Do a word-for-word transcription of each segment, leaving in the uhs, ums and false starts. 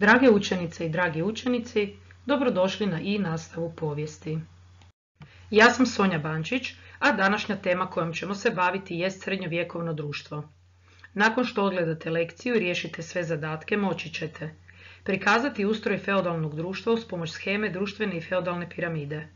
Drage učenice i dragi učenici, dobrodošli na i nastavu povijesti. Ja sam Sonja Bančić, a današnja tema kojom ćemo se baviti jest srednjovjekovno društvo. Nakon što odgledate lekciju i riješite sve zadatke, moći ćete prikazati ustroj feudalnog društva uz pomoć sheme društvene i feudalne piramide,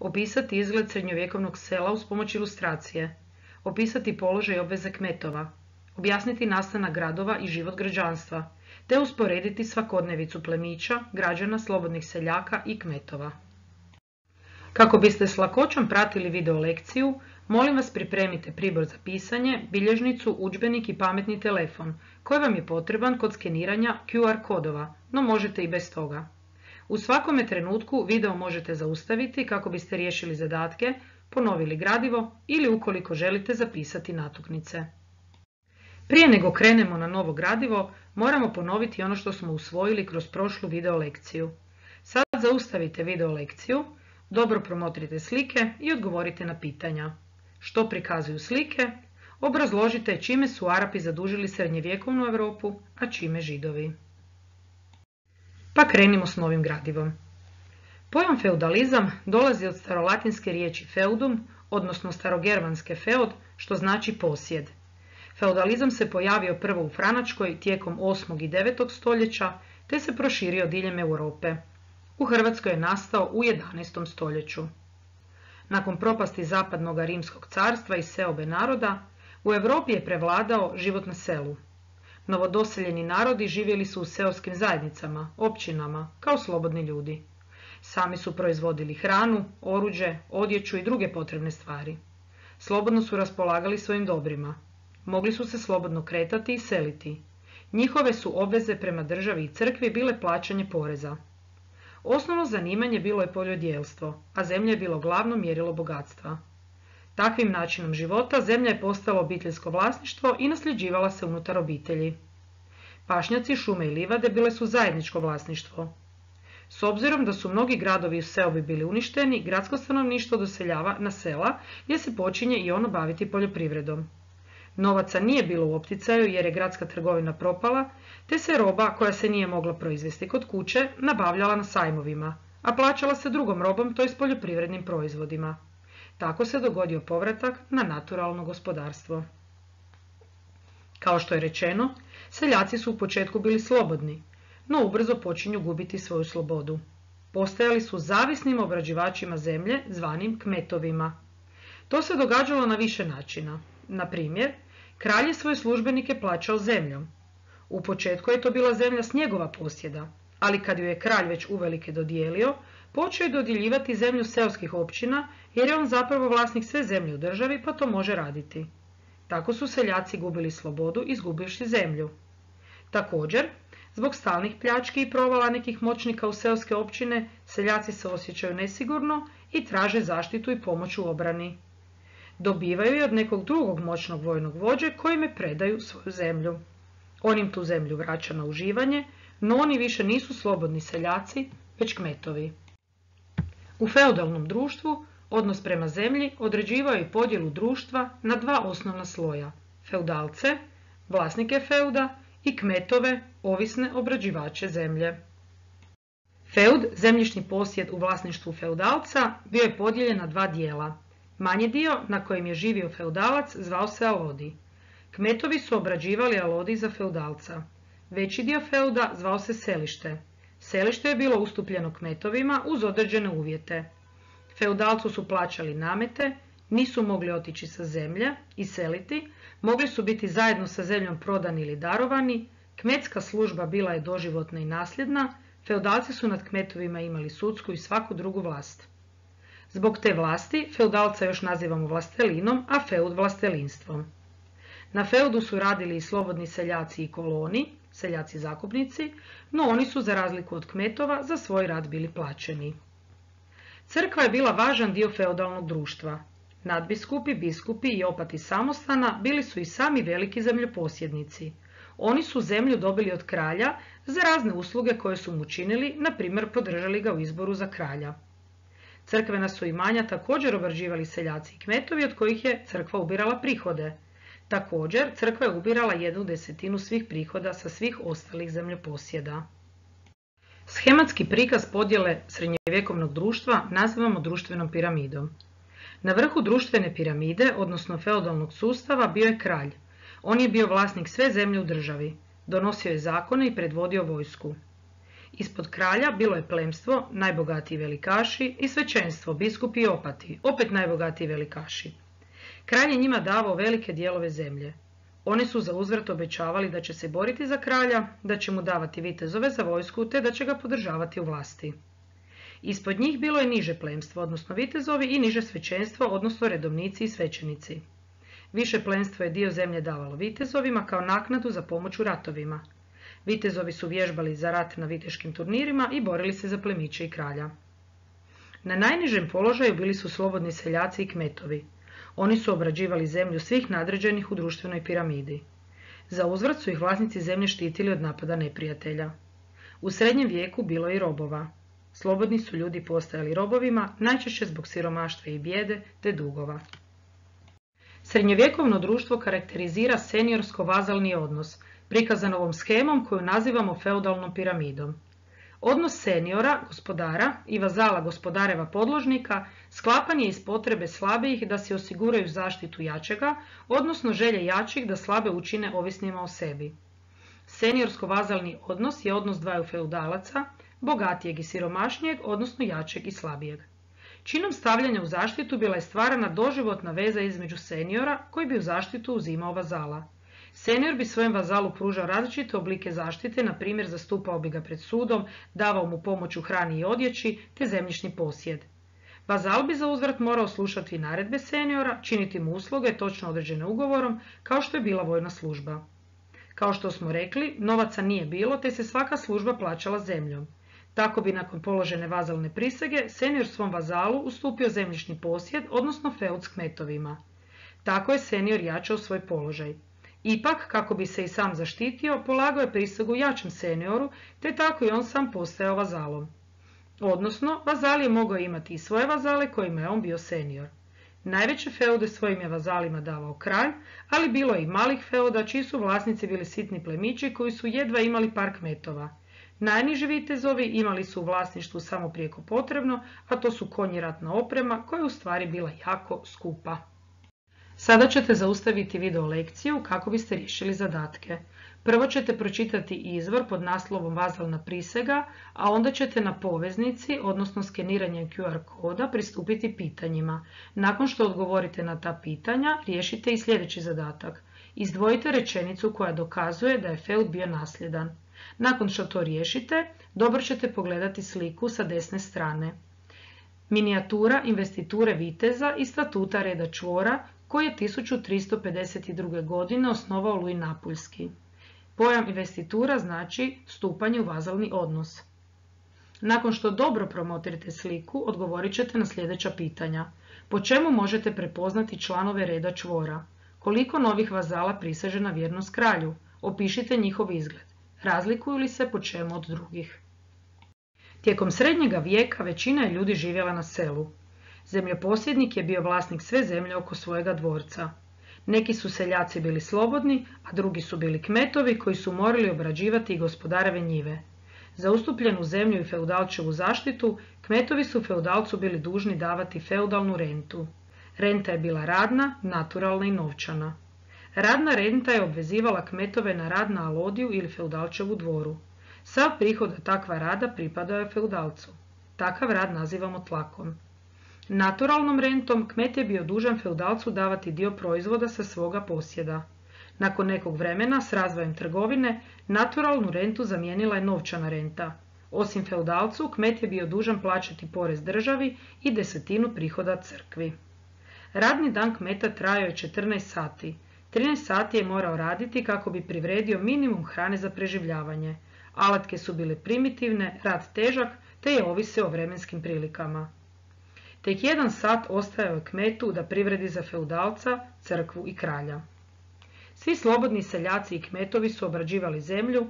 opisati izgled srednjovjekovnog sela uz pomoć ilustracije, opisati položaj i obveze kmetova, objasniti nastanak gradova i život građanstva, te usporediti svakodnevicu plemića, građana, slobodnih seljaka i kmetova. Kako biste s lakoćom pratili video lekciju, molim vas pripremite pribor za pisanje, bilježnicu, udžbenik i pametni telefon, koji vam je potreban kod skeniranja Q R kodova, no možete i bez toga. U svakome trenutku video možete zaustaviti kako biste riješili zadatke, ponovili gradivo ili ukoliko želite zapisati natuknice. Prije nego krenemo na novo gradivo, moramo ponoviti ono što smo usvojili kroz prošlu video lekciju. Sad zaustavite video lekciju, dobro promotrite slike i odgovorite na pitanja. Što prikazuju slike? Obrazložite čime su Arapi zadužili srednjevjekovnu Europu, a čime Židovi. Pa krenimo s novim gradivom. Pojam feudalizam dolazi od starolatinske riječi feudum, odnosno starogermanske feod, što znači posjed. Feudalizam se pojavio prvo u Franačkoj tijekom osmog i devetog stoljeća, te se proširio diljem Europe. U Hrvatskoj je nastao u jedanaestom stoljeću. Nakon propasti zapadnog rimskog carstva i seobe naroda, u Europi je prevladao život na selu. Novodoseljeni narodi živjeli su u seoskim zajednicama, općinama, kao slobodni ljudi. Sami su proizvodili hranu, oruđe, odjeću i druge potrebne stvari. Slobodno su raspolagali svojim dobrima. Mogli su se slobodno kretati i seliti. Njihove su obveze prema državi i crkvi bile plaćanje poreza. Osnovno zanimanje bilo je poljodjelstvo, a zemlja je bilo glavno mjerilo bogatstva. Takvim načinom života zemlja je postala obiteljsko vlasništvo i nasljeđivala se unutar obitelji. Pašnjaci, šume i livade bile su zajedničko vlasništvo. S obzirom da su mnogi gradovi u seobi bili uništeni, gradsko stanovništvo doseljava na sela gdje se počinje i ono baviti poljoprivredom. Novaca nije bilo u opticaju jer je gradska trgovina propala, te se roba koja se nije mogla proizvesti kod kuće nabavljala na sajmovima, a plaćala se drugom robom, to je s poljoprivrednim proizvodima. Tako se dogodio povratak na naturalno gospodarstvo. Kao što je rečeno, seljaci su u početku bili slobodni, no ubrzo počinju gubiti svoju slobodu. Postajali su zavisnim obrađivačima zemlje, zvanim kmetovima. To se događalo na više načina. Na primjer, kralj je svoje službenike plaćao zemljom. U početku je to bila zemlja s njegova posjeda, ali kad ju je kralj već uvelike dodijelio, počeo je dodjeljivati zemlju seoskih općina jer je on zapravo vlasnik sve zemlje u državi pa to može raditi. Tako su seljaci gubili slobodu izgubivši zemlju. Također, zbog stalnih pljački i provala nekih moćnika u seoske općine, seljaci se osjećaju nesigurno i traže zaštitu i pomoć u obrani. Dobivaju je od nekog drugog moćnog vojnog vođe kojime predaju svoju zemlju. On im tu zemlju vraća na uživanje, no oni više nisu slobodni seljaci, već kmetovi. U feudalnom društvu odnos prema zemlji određivao je podjelu društva na dva osnovna sloja: feudalce, vlasnike feuda, i kmetove, ovisne obrađivače zemlje. Feud, zemljišni posjed u vlasništvu feudalca, bio je podijeljen na dva dijela. Manji dio, na kojem je živio feudalac, zvao se alodi. Kmetovi su obrađivali alodi za feudalca. Veći dio feuda zvao se selište. Selište je bilo ustupljeno kmetovima uz određene uvjete. Feudalcu su plaćali namete, nisu mogli otići sa zemlje i seliti, mogli su biti zajedno sa zemljom prodani ili darovani, kmetska služba bila je doživotna i nasljedna, feudalci su nad kmetovima imali sudsku i svaku drugu vlast. Zbog te vlasti feudalca još nazivamo vlastelinom, a feud vlastelinstvom. Na feudu su radili i slobodni seljaci i koloni, seljaci zakupnici, no oni su za razliku od kmetova za svoj rad bili plaćeni. Crkva je bila važan dio feudalnog društva. Nadbiskupi, biskupi i opati samostana bili su i sami veliki zemljoposjednici. Oni su zemlju dobili od kralja za razne usluge koje su mu činili, na primjer podržali ga u izboru za kralja. Crkvena su imanja također obrađivali seljaci i kmetovi od kojih je crkva ubirala prihode. Također, crkva je ubirala jednu desetinu svih prihoda sa svih ostalih zemljoposjeda. Shematski prikaz podjele srednjovjekovnog društva nazivamo društvenom piramidom. Na vrhu društvene piramide, odnosno feudalnog sustava, bio je kralj. On je bio vlasnik sve zemlje u državi, donosio je zakone i predvodio vojsku. Ispod kralja bilo je plemstvo, najbogatiji velikaši, i svećenstvo, biskupi i opati, opet najbogatiji velikaši. Kralj je njima davao velike dijelove zemlje. Oni su za uzvrat obećavali da će se boriti za kralja, da će mu davati vitezove za vojsku te da će ga podržavati u vlasti. Ispod njih bilo je niže plemstvo, odnosno vitezovi, i niže svećenstvo, odnosno redovnici i svećenici. Više plemstvo je dio zemlje davalo vitezovima kao naknadu za pomoć u ratovima. Vitezovi su vježbali za rat na viteškim turnirima i borili se za plemiće i kralja. Na najnižem položaju bili su slobodni seljaci i kmetovi. Oni su obrađivali zemlju svih nadređenih u društvenoj piramidi. Za uzvrat su ih vlasnici zemlje štitili od napada neprijatelja. U srednjem vijeku bilo je i robova. Slobodni su ljudi postajali robovima, najčešće zbog siromaštva i bijede te dugova. Srednjovjekovno društvo karakterizira seniorsko-vazalni odnos, prikazan ovom shemom koju nazivamo feudalnom piramidom. Odnos seniora, gospodara, i vazala, gospodareva podložnika, sklapan je iz potrebe slabijih da si osiguraju zaštitu jačega, odnosno želje jačih da slabe učine ovisnima o sebi. Seniorsko-vazalni odnos je odnos dvaju feudalaca, bogatijeg i siromašnijeg, odnosno jačeg i slabijeg. Činom stavljanja u zaštitu bila je stvarana doživotna veza između seniora koji bi u zaštitu uzimao vazala. Senior bi svojem vazalu pružao različite oblike zaštite, na primjer zastupao bi ga pred sudom, davao mu pomoć u hrani i odjeći te zemljišni posjed. Vazal bi za uzvrat morao slušati naredbe seniora, činiti mu usluge točno određene ugovorom, kao što je bila vojna služba. Kao što smo rekli, novaca nije bilo te se svaka služba plaćala zemljom. Tako bi nakon položene vazalne prisege senior svom vazalu ustupio zemljišni posjed, odnosno feud s kmetovima. Tako je senior jačao svoj položaj. Ipak, kako bi se i sam zaštitio, polagao je prisegu jačem senioru, te tako i on sam postajao vazalom. Odnosno, vazal je mogao imati i svoje vazale kojima je on bio senior. Najveće feude svojim je vazalima davao kralj, ali bilo je i malih feuda čiji su vlasnici bili sitni plemići koji su jedva imali par kmetova. Najniži vitezovi imali su u vlasništvu samo prijeko potrebno, a to su konji i ratna oprema koja je u stvari bila jako skupa. Sada ćete zaustaviti video lekciju kako biste riješili zadatke. Prvo ćete pročitati izvor pod naslovom Vazalna prisega, a onda ćete na poveznici, odnosno skeniranjem Q R koda, pristupiti pitanjima. Nakon što odgovorite na ta pitanja, riješite i sljedeći zadatak. Izdvojite rečenicu koja dokazuje da je feud bio nasljedan. Nakon što to riješite, dobro ćete pogledati sliku sa desne strane. Minijatura investiture viteza i statuta reda čvora koji je tisuću tristo pedeset druge. godine osnovao Louis Napuljski. Pojam investitura znači stupanje u vazalni odnos. Nakon što dobro promotrite sliku, odgovorit ćete na sljedeća pitanja. Po čemu možete prepoznati članove reda čvora? Koliko novih vazala priseže na vjernost kralju? Opišite njihov izgled. Razlikuju li se po čemu od drugih? Tijekom srednjega vijeka većina je ljudi živjela na selu. Zemljoposjednik je bio vlasnik sve zemlje oko svojega dvorca. Neki su seljaci bili slobodni, a drugi su bili kmetovi koji su morali obrađivati i gospodareve njive. Za ustupljenu zemlju i feudalčevu zaštitu, kmetovi su feudalcu bili dužni davati feudalnu rentu. Renta je bila radna, naturalna i novčana. Radna renta je obvezivala kmetove na rad na alodiju ili feudalčevu dvoru. Sav prihod od takva rada pripadao je feudalcu. Takav rad nazivamo tlakom. Naturalnom rentom kmet je bio dužan feudalcu davati dio proizvoda sa svoga posjeda. Nakon nekog vremena, s razvojem trgovine, naturalnu rentu zamijenila je novčana renta. Osim feudalcu, kmet je bio dužan plaćati porez državi i desetinu prihoda crkvi. Radni dan kmeta trajao je četrnaest sati. trinaest sati je morao raditi kako bi privredio minimum hrane za preživljavanje. Alatke su bile primitivne, rad težak, te je ovisio o vremenskim prilikama. Tek jedan sat ostajao je kmetu da privredi za feudalca, crkvu i kralja. Svi slobodni seljaci i kmetovi su obrađivali zemlju,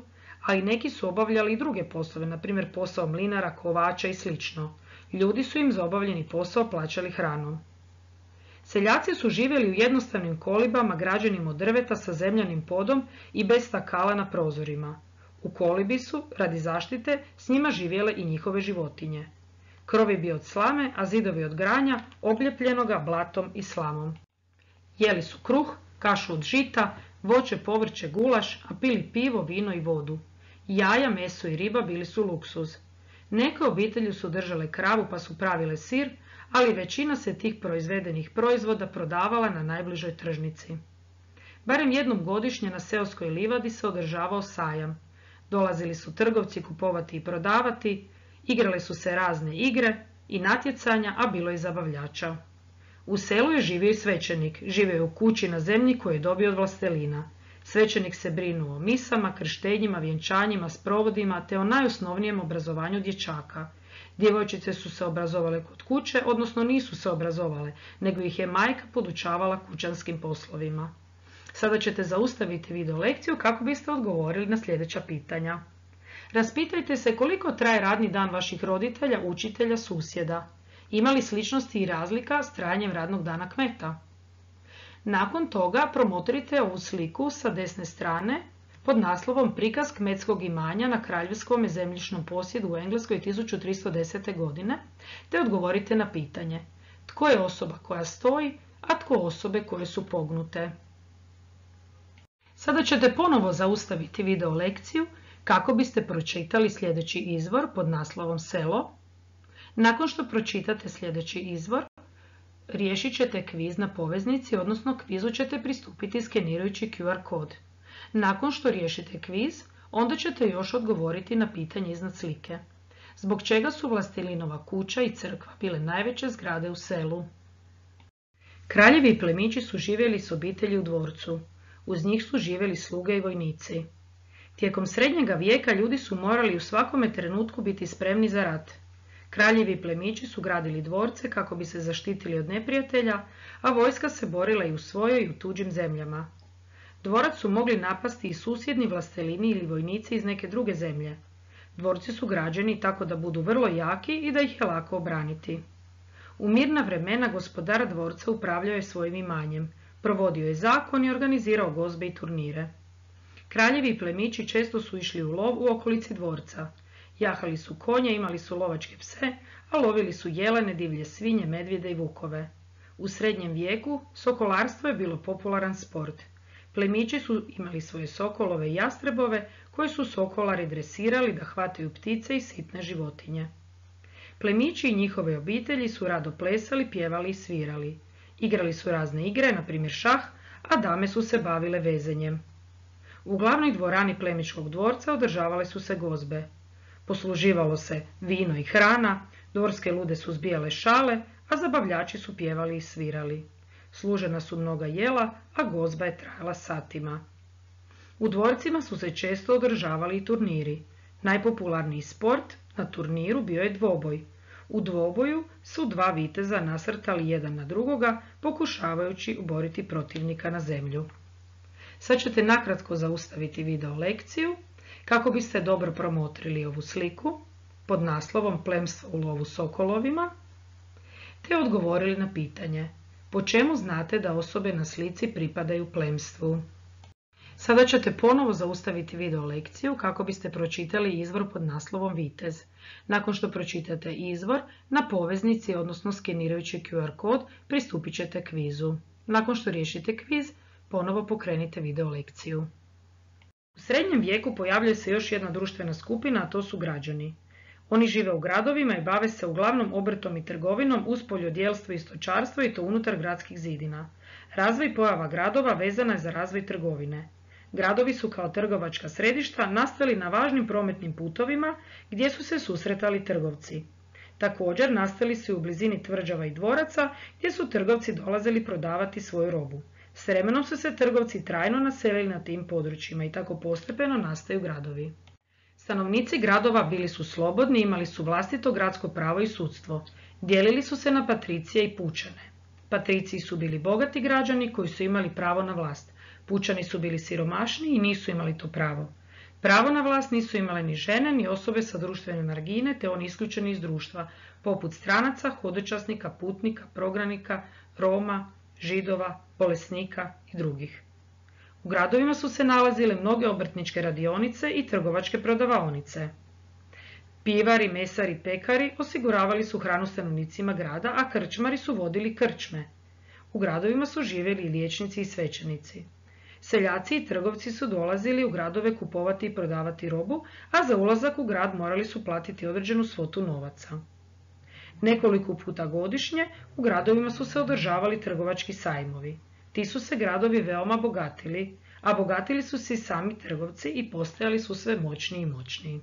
a i neki su obavljali i druge poslove, na primjer posao mlinara, kovača i sl. Ljudi su im za obavljeni posao plaćali hranom. Seljaci su živjeli u jednostavnim kolibama građenim od drveta sa zemljanim podom i bez stakala na prozorima. U kolibi su, radi zaštite, s njima živjele i njihove životinje. Krov je bio od slame, a zidovi od granja, obljepljenoga blatom i slamom. Jeli su kruh, kašu od žita, voće, povrće, gulaš, a pili pivo, vino i vodu. Jaja, meso i riba bili su luksuz. Neke obitelji su držale kravu pa su pravile sir, ali većina se tih proizvedenih proizvoda prodavala na najbližoj tržnici. Barem jednom godišnje na seoskoj livadi se održavao sajam. Dolazili su trgovci kupovati i prodavati, igrale su se razne igre i natjecanja, a bilo i zabavljača. U selu je živio i svećenik, živio je u kući na zemlji koju je dobio od vlastelina. Svećenik se brinuo o misama, krštenjima, vjenčanjima, sprovodima te o najosnovnijem obrazovanju dječaka. Djevojčice su se obrazovale kod kuće, odnosno nisu se obrazovale, nego ih je majka podučavala kućanskim poslovima. Sada ćete zaustaviti video lekciju kako biste odgovorili na sljedeća pitanja. Raspitajte se koliko traje radni dan vaših roditelja, učitelja, susjeda. Ima li sličnosti i razlika s trajanjem radnog dana kmeta? Nakon toga promotrite ovu sliku sa desne strane pod naslovom Prikaz kmetskog imanja na kraljevskom zemljišnom posjedu u Engleskoj tisuću tristo desete. godine, te odgovorite na pitanje tko je osoba koja stoji, a tko osobe koje su pognute. Sada ćete ponovo zaustaviti video lekciju kako biste pročitali sljedeći izvor pod naslovom Selo. Nakon što pročitate sljedeći izvor, riješit ćete kviz na poveznici, odnosno kvizu ćete pristupiti skenirajući Q R kod. Nakon što riješite kviz, onda ćete još odgovoriti na pitanje iznad slike. Zbog čega su Vlastelinova kuća i crkva bile najveće zgrade u selu? Kraljevi i plemići su živjeli s obitelji u dvorcu. Uz njih su živjeli sluge i vojnici. Tijekom srednjega vijeka ljudi su morali u svakome trenutku biti spremni za rat. Kraljevi i plemići su gradili dvorce kako bi se zaštitili od neprijatelja, a vojska se borila i u svojoj i u tuđim zemljama. Dvorac su mogli napasti i susjedni vlastelini ili vojnici iz neke druge zemlje. Dvorci su građeni tako da budu vrlo jaki i da ih je lako obraniti. U mirna vremena gospodar dvorca upravljao je svojim imanjem, provodio je zakon i organizirao gozbe i turnire. Kraljevi i plemići često su išli u lov u okolici dvorca. Jahali su konje, imali su lovačke pse, a lovili su jelene, divlje svinje, medvjede i vukove. U srednjem vijeku sokolarstvo je bilo popularan sport. Plemići su imali svoje sokolove i jastrebove koje su sokolari dresirali da hvataju ptice i sitne životinje. Plemići i njihove obitelji su rado plesali, pjevali i svirali. Igrali su razne igre, na primjer šah, a dame su se bavile vezenjem. U glavnoj dvorani plemičkog dvorca održavale su se gozbe. Posluživalo se vino i hrana, dvorske lude su zbijale šale, a zabavljači su pjevali i svirali. Služena su mnoga jela, a gozba je trajala satima. U dvorcima su se često održavali i turniri. Najpopularniji sport na turniru bio je dvoboj. U dvoboju su dva viteza nasrtali jedan na drugoga, pokušavajući uboriti protivnika na zemlju. Sad ćete nakratko zaustaviti video lekciju kako biste dobro promotrili ovu sliku pod naslovom Plemstvo u lovu sokolovima, te odgovorili na pitanje po čemu znate da osobe na slici pripadaju plemstvu. Sada ćete ponovo zaustaviti video lekciju kako biste pročitali izvor pod naslovom Vitez. Nakon što pročitate izvor, na poveznici, odnosno skenirajući Q R kod, pristupit ćete kvizu. Nakon što riješite kviz, ponovo pokrenite video lekciju. U srednjem vijeku pojavljuje se još jedna društvena skupina, a to su građani. Oni žive u gradovima i bave se uglavnom obrtom i trgovinom uz poljodjelstvo i stočarstvo i to unutar gradskih zidina. Razvoj i pojava gradova vezana je za razvoj trgovine. Gradovi su kao trgovačka središta nastali na važnim prometnim putovima gdje su se susretali trgovci. Također nastali su i u blizini tvrđava i dvoraca gdje su trgovci dolazili prodavati svoju robu. S vremenom su se trgovci trajno naselili na tim područjima i tako postepeno nastaju gradovi. Stanovnici gradova bili su slobodni, imali su vlastito gradsko pravo i sudstvo. Dijelili su se na patricije i pučane. Patriciji su bili bogati građani koji su imali pravo na vlast. Pučani su bili siromašni i nisu imali to pravo. Pravo na vlast nisu imale ni žene, ni osobe sa društvene margine, te oni isključeni iz društva, poput stranaca, hodočasnika, putnika, prognanika, Roma, Židova, bolesnika i drugih. U gradovima su se nalazile mnoge obrtničke radionice i trgovačke prodavaonice. Pivari, mesari, pekari osiguravali su hranu stanovnicima grada, a krčmari su vodili krčme. U gradovima su živjeli i liječnici i svećenici. Seljaci i trgovci su dolazili u gradove kupovati i prodavati robu, a za ulazak u grad morali su platiti određenu svotu novaca. Nekoliko puta godišnje u gradovima su se održavali trgovački sajmovi. Ti su se gradovi veoma bogatili, a bogatili su se i sami trgovci i postajali su sve moćniji i moćniji.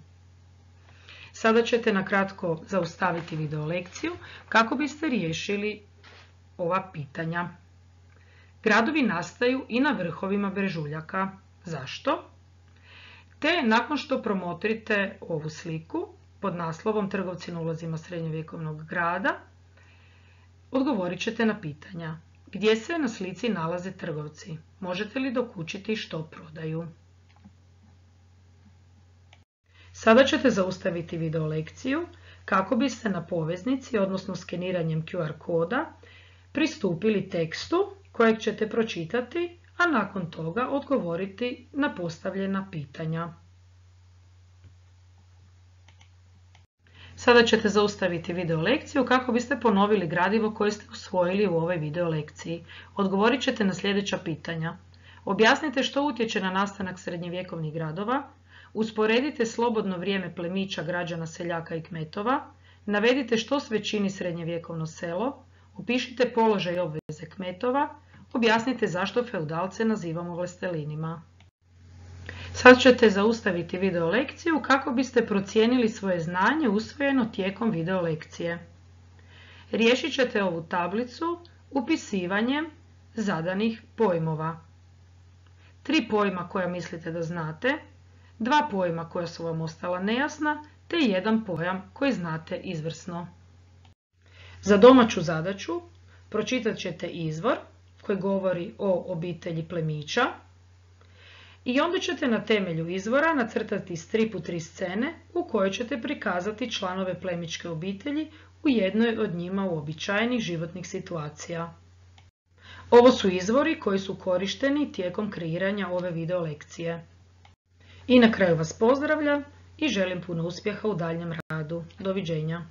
Sada ćete na kratko zaustaviti video lekciju kako biste riješili ova pitanja. Gradovi nastaju i na vrhovima brežuljaka. Zašto? Te nakon što promotrite ovu sliku pod naslovom Trgovci na ulazima srednjovjekovnog grada, odgovorit ćete na pitanja. Gdje se na slici nalaze trgovci? Možete li dokučiti što prodaju? Sada ćete zaustaviti video lekciju kako biste na poveznici, odnosno skeniranjem Q R koda, pristupili tekstu kojeg ćete pročitati, a nakon toga odgovoriti na postavljena pitanja. Sada ćete zaustaviti video lekciju kako biste ponovili gradivo koje ste usvojili u ovoj video lekciji. Odgovorit ćete na sljedeća pitanja. Objasnite što utječe na nastanak srednjevjekovnih gradova, usporedite slobodno vrijeme plemića, građana, seljaka i kmetova, navedite što sve čini srednjevjekovno selo, opišite položaj i obveze kmetova, objasnite zašto feudalce nazivamo vlastelinima. Sad ćete zaustaviti video lekciju kako biste procijenili svoje znanje usvojeno tijekom video lekcije. Riješit ćete ovu tablicu upisivanjem zadanih pojmova. Tri pojma koja mislite da znate, dva pojma koja su vam ostala nejasna, te jedan pojam koji znate izvrsno. Za domaću zadaću pročitat ćete izvor koji govori o obitelji plemića i onda ćete na temelju izvora nacrtati s tri puta tri scene u kojoj ćete prikazati članove plemićke obitelji u jednoj od njima uobičajenih životnih situacija. Ovo su izvori koji su korišteni tijekom kreiranja ove video lekcije. I na kraju vas pozdravljam i želim puno uspjeha u daljnjem radu. Doviđenja.